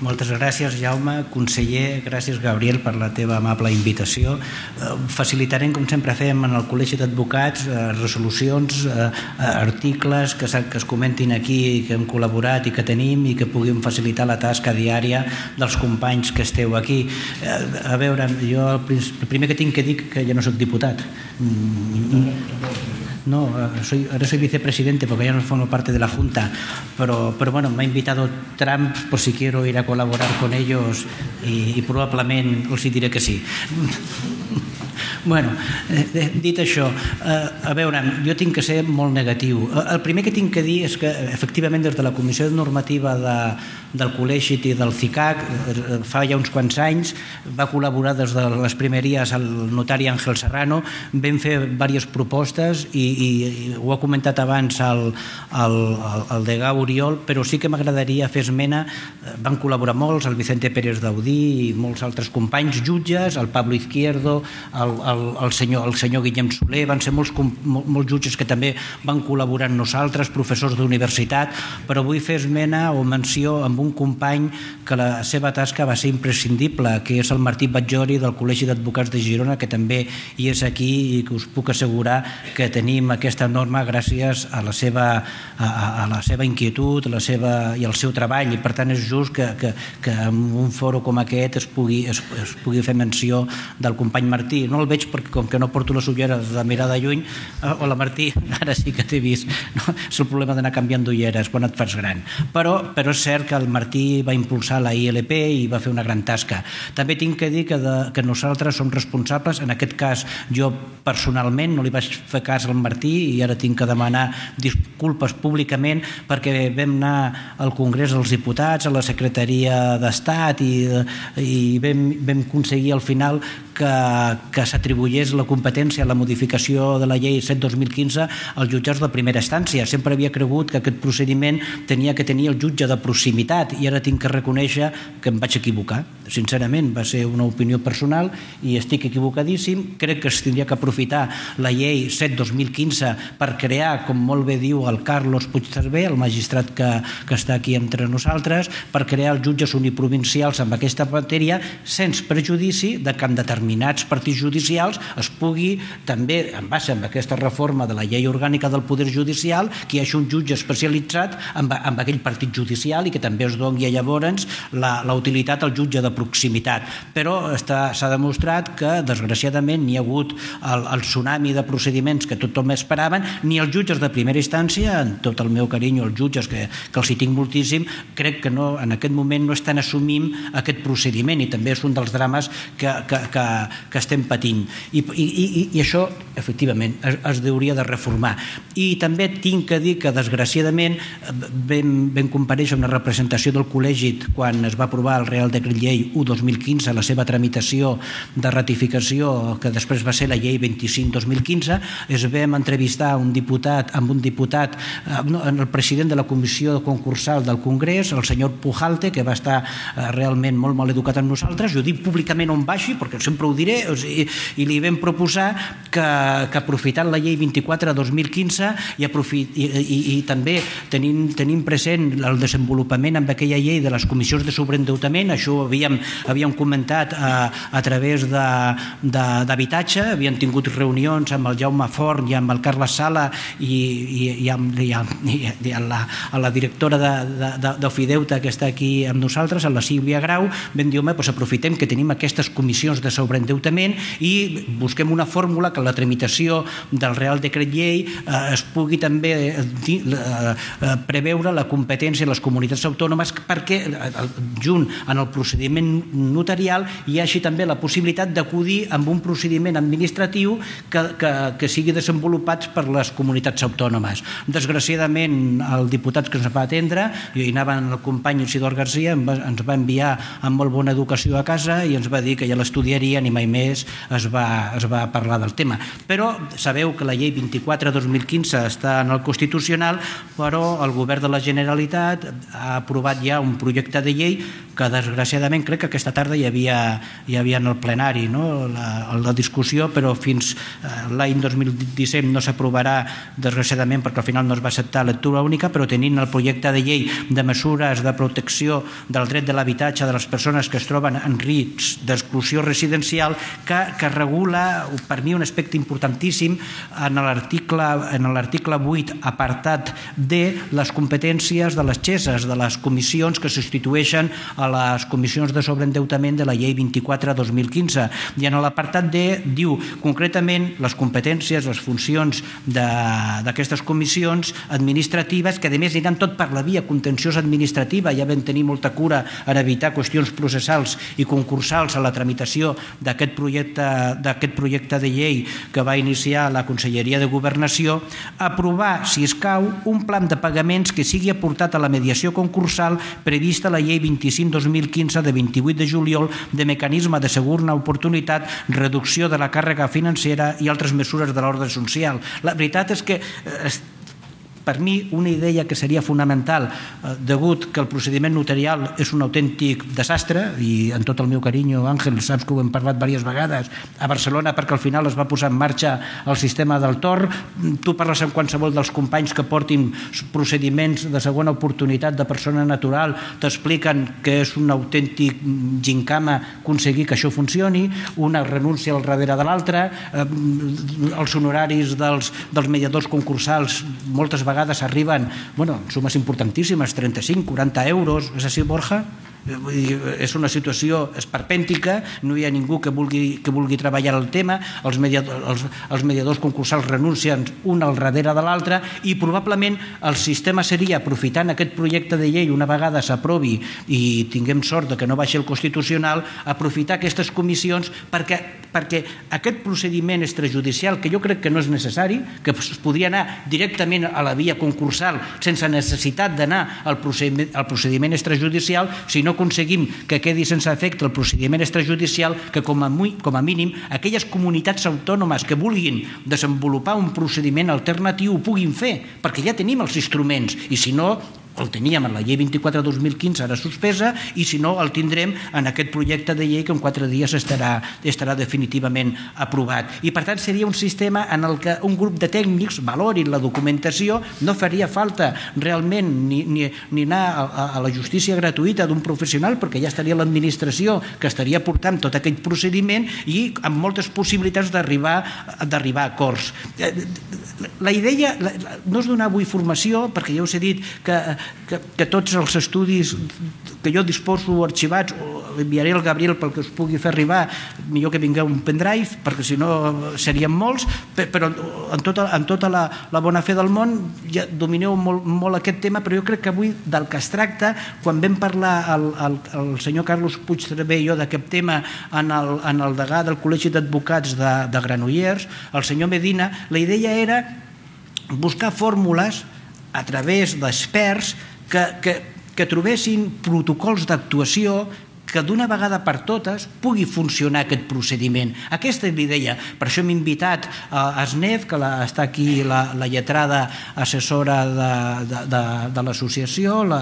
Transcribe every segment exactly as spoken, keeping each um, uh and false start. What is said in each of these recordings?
Moltes gràcies, Jaume. Conseller, gràcies, Gabriel, per la teva amable invitació. Facilitarem, com sempre fem en el Col·legi d'Advocats, resolucions, articles que es comentin aquí, que hem col·laborat i que tenim i que puguin facilitar la tasca diària dels companys que esteu aquí. A veure, jo el primer que tinc que dir que ja no soc diputat. No, soy, ahora soy vicepresidente porque ya no formo parte de la Junta, pero, pero bueno, me ha invitado Trump por si quiero ir a colaborar con ellos y, y probablement els diré que sí. Bueno, dit això, a veure, jo tinc que ser molt negatiu. El primer que tinc que dir és que, efectivament, des de la Comissió Normativa del Col·legi i del CICAC, fa ja uns quants anys, va col·laborar des de les primeries el notari Àngel Serrano, vam fer diverses propostes i ho ha comentat abans el degà Oriol, però sí que m'agradaria fer esmena. Van col·laborar molts, el Vicente Pérez Daudí i molts altres companys, jutges, el Pablo Izquierdo, el el senyor Guillem Soler, van ser molts jutges que també van col·laborar amb nosaltres, professors d'universitat, però vull fer esmena o menció amb un company que la seva tasca va ser imprescindible, que és el Martí Batllori del Col·legi d'Advocats de Girona, que també hi és aquí i que us puc assegurar que tenim aquesta norma gràcies a la seva inquietud i al seu treball, i per tant és just que en un foro com aquest es pugui fer menció del company Martí. No el veig perquè com que no porto les ulleres de mirar de lluny. Hola Martí, ara sí que t'he vist. És el problema d'anar canviant d'ulleres quan et fas gran. Però és cert que el Martí va impulsar la I L P i va fer una gran tasca. També tinc que dir que nosaltres som responsables, en aquest cas jo personalment no li vaig fer cas al Martí i ara tinc que demanar disculpes públicament perquè vam anar al Congrés dels Diputats, a la Secretaria d'Estat i vam aconseguir al final que s'atribuís la competència a la modificació de la llei set dos mil quinze als jutjats de primera instància. Sempre havia cregut que aquest procediment tenia que tenir el jutge de proximitat i ara tinc que reconèixer que em vaig equivocar. Sincerament, va ser una opinió personal i estic equivocadíssim. Crec que es tindria que aprofitar la llei set dos mil quinze per crear, com molt bé diu el Carlos Puigcerver, el magistrat que està aquí entre nosaltres, per crear els jutges uniprovincials amb aquesta matèria sense prejudici de que en determinats partits judicials es pugui també, en base a aquesta reforma de la llei orgànica del Poder Judicial, que hi hagi un jutge especialitzat en aquell partit judicial i que també es doni llavors la utilitat al jutge de proximitat. Però s'ha demostrat que, desgraciadament, ni hi ha hagut el tsunami de procediments que tothom esperaven, ni els jutges de primera instància, en tot el meu carinyo als jutges, que els hi tinc moltíssim, crec que en aquest moment no estan assumint aquest procediment i també és un dels drames que estem patint. I això, efectivament, es hauria de reformar. I també tinc que dir que, desgraciadament, vam comparèixer una representació del col·legi quan es va aprovar el Real Decret Llei u dos mil quinze, la seva tramitació de ratificació, que després va ser la llei vint-i-cinc dos mil quinze. Es vam entrevistar un diputat amb un diputat, el president de la comissió concursal del Congrés, el senyor Pujalte, que va estar realment molt mal educat amb nosaltres. Jo dic públicament on vagi, perquè sempre ho diré, i li vam proposar que aprofitant la llei vint-i-quatre dos mil quinze i també tenint present el desenvolupament amb aquella llei de les comissions de sobreendeutament, això ho havíem comentat a través d'habitatge, havíem tingut reunions amb el Jaume Forn i amb el Carles Sala i amb la directora d'Ofideute que està aquí amb nosaltres, la Sílvia Grau. Vam dir, home, aprofitem que tenim aquestes comissions de sobreendeutament i busquem una fórmula que la tramitació del Real Decret Llei es pugui també preveure la competència de les comunitats autònomes perquè junt en el procediment notarial hi hagi també la possibilitat d'acudir amb un procediment administratiu que sigui desenvolupat per les comunitats autònomes. Desgraciadament, el diputat que ens va atendre, i anava el company Isidor García, ens va enviar amb molt bona educació a casa i ens va dir que ja l'estudiarien i mai més es va parlar del tema. Però sabeu que la llei vint-i-quatre dos mil quinze està en el Constitucional, però el govern de la Generalitat ha aprovat ja un projecte de llei que desgraciadament crec crec que aquesta tarda hi havia, hi havia en el plenari, no? la, la discussió, però fins l'any dos mil disset no s'aprovarà, desgraciadament, perquè al final no es va acceptar lectura única, però tenint el projecte de llei de mesures de protecció del dret de l'habitatge de les persones que es troben en risc d'exclusió residencial, que, que regula, per mi, un aspecte importantíssim en l'article en l'article vuit, apartat D, les competències de les X E S, de les comissions que substitueixen a les comissions de sobreendeutament de la llei vint-i-quatre dos mil quinze. I en l'apartat D diu concretament les competències, les funcions d'aquestes comissions administratives, que a més aniran tot per la via contenciosa administrativa. Ja vam tenir molta cura en evitar qüestions processals i concursals a la tramitació d'aquest projecte, d'aquest projecte de llei que va iniciar la Conselleria de Governació. Aprovar, si escau, un plan de pagaments que sigui aportat a la mediació concursal prevista a la llei vint-i-cinc dos mil quinze de vint-i-vuit de juliol de mecanisme de segona oportunitat, reducció de la càrrega financera i altres mesures de l'ordre social. La veritat és que per mi una idea que seria fonamental, degut que el procediment notarial és un autèntic desastre, i en tot el meu carinyo, Àngel, saps que ho hem parlat diverses vegades, a Barcelona, perquè al final es va posar en marxa el sistema del Tor. Tu parles amb qualsevol dels companys que portin procediments de segona oportunitat de persona natural, t'expliquen que és un autèntic gincama aconseguir que això funcioni, una renúncia al darrere de l'altra, els honoraris dels mediadors concursals moltes vegades vegades arriben, bueno, sumes importantíssimes, trenta-cinc, quaranta euros, és així, Borja? És una situació esperpèntica, no hi ha ningú que vulgui, que vulgui treballar el tema, els mediadors, els, els mediadors concursals renuncien un al darrere de l'altre, i probablement el sistema seria, aprofitant aquest projecte de llei una vegada s'aprovi i tinguem sort de que no baixi el Constitucional, aprofitar aquestes comissions perquè, perquè aquest procediment extrajudicial, que jo crec que no és necessari, que es podria anar directament a la via concursal sense necessitat d'anar al procediment, al procediment extrajudicial, si no aconseguim que quedi sense efecte el procediment extrajudicial, que com a, com a mínim aquelles comunitats autònomes que vulguin desenvolupar un procediment alternatiu ho puguin fer, perquè ja tenim els instruments, i si no el teníem en la llei vint-i-quatre dos mil quinze, ara suspesa, i si no el tindrem en aquest projecte de llei que en quatre dies estarà, estarà definitivament aprovat. I per tant seria un sistema en el que un grup de tècnics valorin la documentació, no faria falta realment ni, ni, ni anar a, a la justícia gratuïta d'un professional, perquè ja estaria l'administració que estaria portant tot aquest procediment i amb moltes possibilitats d'arribar d'arribar a acords. La idea no és donar avui formació, perquè ja us he dit que Que, que tots els estudis que jo disposo arxivats enviaré al Gabriel pel que us pugui fer arribar, millor que vingueu un pendrive perquè si no serien molts, però en tota, en tota la, la bona fe del món ja domineu molt, molt aquest tema, però jo crec que avui del que es tracta, quan vam parlar el, el, el senyor Carlos Puigcerver i jo d'aquest tema en el, en el degà del Col·legi d'Advocats de, de Granollers, el senyor Medina, la idea era buscar fórmules a través d'experts que, que, que trobessin protocols d'actuació que d'una vegada per totes pugui funcionar aquest procediment. Aquesta és l'idea. Per això hem invitat a S N E F, que la, està aquí la, la lletrada assessora de, de, de, de l'associació, la,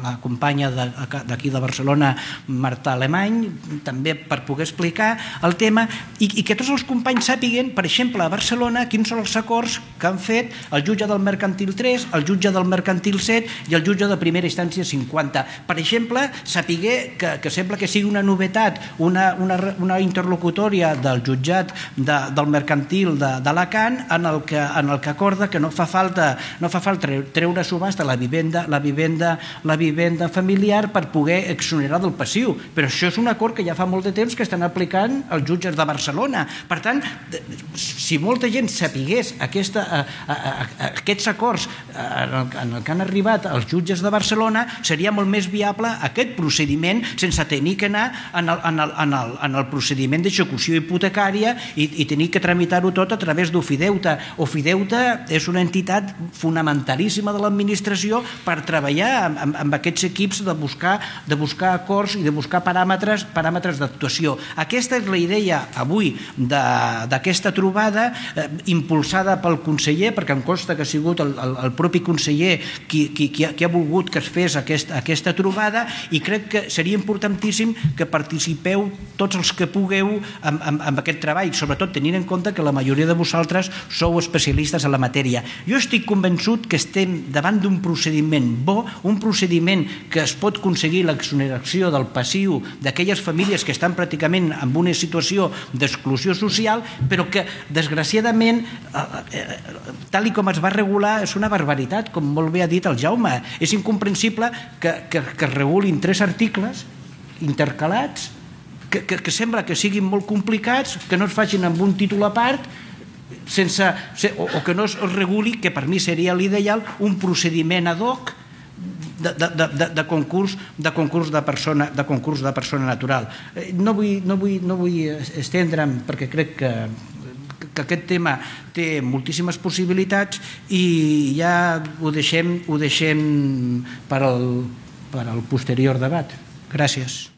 la companya d'aquí de, de Barcelona, Marta Alemany, també per poder explicar el tema, i, i que tots els companys sàpiguen, per exemple, a Barcelona, quins són els acords que han fet el jutge del Mercantil tres, el jutge del Mercantil set i el jutge de primera instància cinquanta. Per exemple, sapiguer que, que sembla que sigui una novetat, una, una, una interlocutòria del jutjat de, del mercantil de, d'Alacant en el que, en el que acorda que no fa falta, no fa falta treure a subhasta la vivenda, la vivenda, la vivenda familiar per poder exonerar del passiu. Però això és un acord que ja fa molt de temps que estan aplicant els jutges de Barcelona. Per tant, si molta gent sapigués aquesta, a, a, a, aquests acords en el, en el que han arribat els jutges de Barcelona, seria molt més viable aquest procediment sense tenir que anar en el, en el, en el, en el procediment d'execució hipotecària i, i tenir que tramitar-ho tot a través d'Ofideute. Ofideute és una entitat fonamentalíssima de l'administració per treballar amb, amb aquests equips de buscar, de buscar acords i de buscar paràmetres, paràmetres d'actuació. Aquesta és la idea avui d'aquesta trobada eh, impulsada pel conseller, perquè em consta que ha sigut el, el, el propi conseller qui, qui, qui, ha, qui ha volgut que es fes aquest, aquesta trobada, i crec que seria importantíssim importantíssim que participeu tots els que pugueu en, en, en aquest treball, sobretot tenint en compte que la majoria de vosaltres sou especialistes en la matèria. Jo estic convençut que estem davant d'un procediment bo, un procediment que es pot aconseguir l'exoneració del passiu d'aquelles famílies que estan pràcticament en una situació d'exclusió social, però que, desgraciadament, tal i com es va regular, és una barbaritat, com molt bé ha dit el Jaume. És incomprensible que, que, que es regulin tres articles intercalats que, que, que sembla que siguin molt complicats, que no es facin amb un títol a part, sense, o, o que no es reguli, que per mi seria l'ideal, un procediment ad hoc de, de, de, de concurs de concurs de persona, de concurs de persona natural. No vull, no vull, no vull estendre'm, perquè crec que que aquest tema té moltíssimes possibilitats i ja ho deixem, ho deixem per al, per al posterior debat. Gràcies.